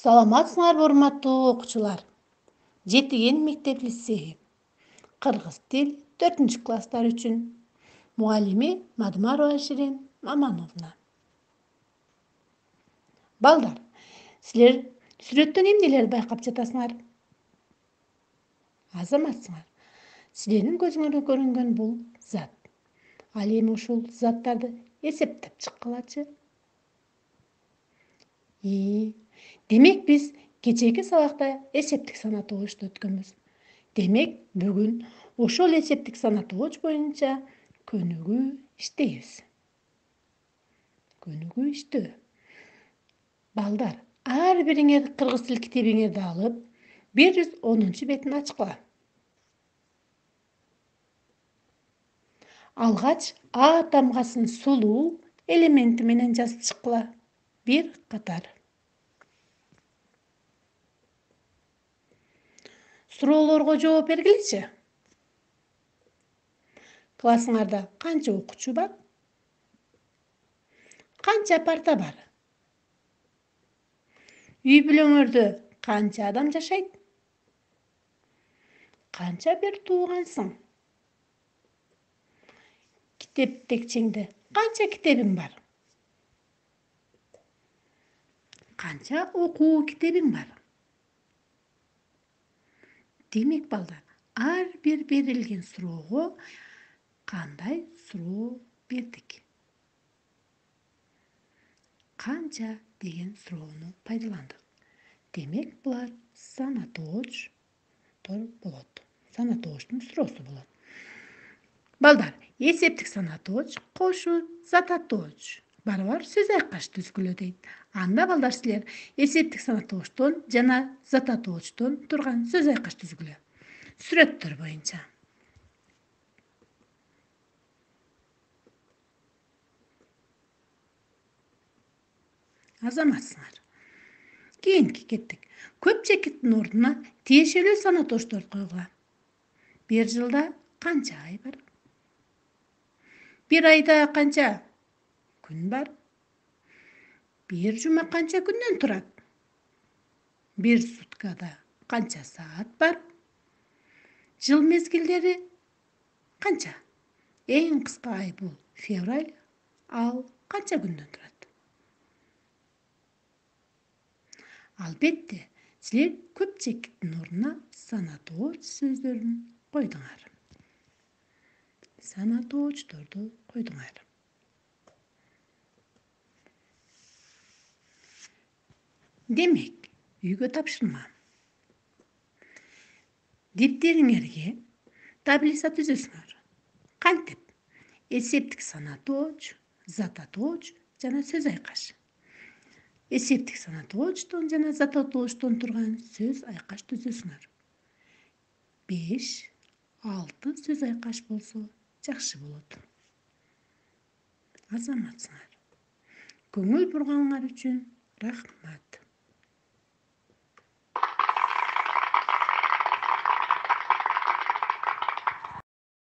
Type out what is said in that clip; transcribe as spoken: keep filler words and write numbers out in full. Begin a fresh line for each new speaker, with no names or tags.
Саламатсыңарбы урматтуу окуучулар. Жетиген мектеп лицейи. Кыргыз тил төртүнчү класстар үчүн. Мугаллими Мадымарова Ширин Мамановна. Балдар, силер сүрөттөн эмнелерди байкап жатасыңар? Азаматсыңар. Силердин көзүңөргө көрүнгөн бул зат. Ал эми ушул заттарды эсептеп чыккылачы. И, демек биз кечээки сабакта эсептик сана тогучту өткөнбүз. Демек, бүгүн ошол эсептик сана тогуч боюнча көнүгүү иштейбиз. Көнүгүү иштөө. Балдар, ар бириңер кыргыз тил китебиңерди алып, бир жүз онунчу бетин ачкыла. Алгач А тамгасын сулуу элементи менен жазып чыккыла. Бир катар. Суроолорго жооп бергилечи. Классыңарда канча окуучу бар? Канча парта бар? Үй бүлөңөрдө канча адам жашайт? Канча бир туугансың? Китептекчеңде канча китебиң бар? Канча окуу китебиң бар? Демек, балдар, ар бир берилген суроого кандай суроо бердик? Канча деген суроону пайдаландык. Демек, булар сана тогучтор болот. Сана тогучтун суроосу болот. Балдар, эсептик сана тогуч кошуу зата тогуч барабар сөз айкаш түзгүлө дейт. Анда балдар силер эсептик сана тогучтон жана зата тогучтон турган сөз айкаш түзгүлө. Сүрөттөр боюнча. Азаматсыңар. Кийинки кеттик. Көп чекиттин ордуна тиешелүү сана тогучтор койгула. Бир жылда канча ай бар? Бир айда канча күн бар? Бир жума канча күндөн турат? Бир суткада канча саат бар? Жыл мезгилдери канча? Эң кыска ай бул февраль. Ал канча күндөн турат? Албетте, силер көп чекиттин ордуна сана тогуч сөздөрүн койдуңар. Сана тогучторду койдуңар. Демек, үйгө тапшырма. Дептериңерге таблица түзөсүңөр. Кантип? Эсептик сана тогуч, зата тогуч жана сөз айкаш. Эсептик сана тогучтон жана зата тогучтон турган сөз айкаш түзөсүңөр. беш, алты сөз айкаш болсо жакшы болот. Азаматсыңар. Көңүл бурганыңар үчүн рахмат.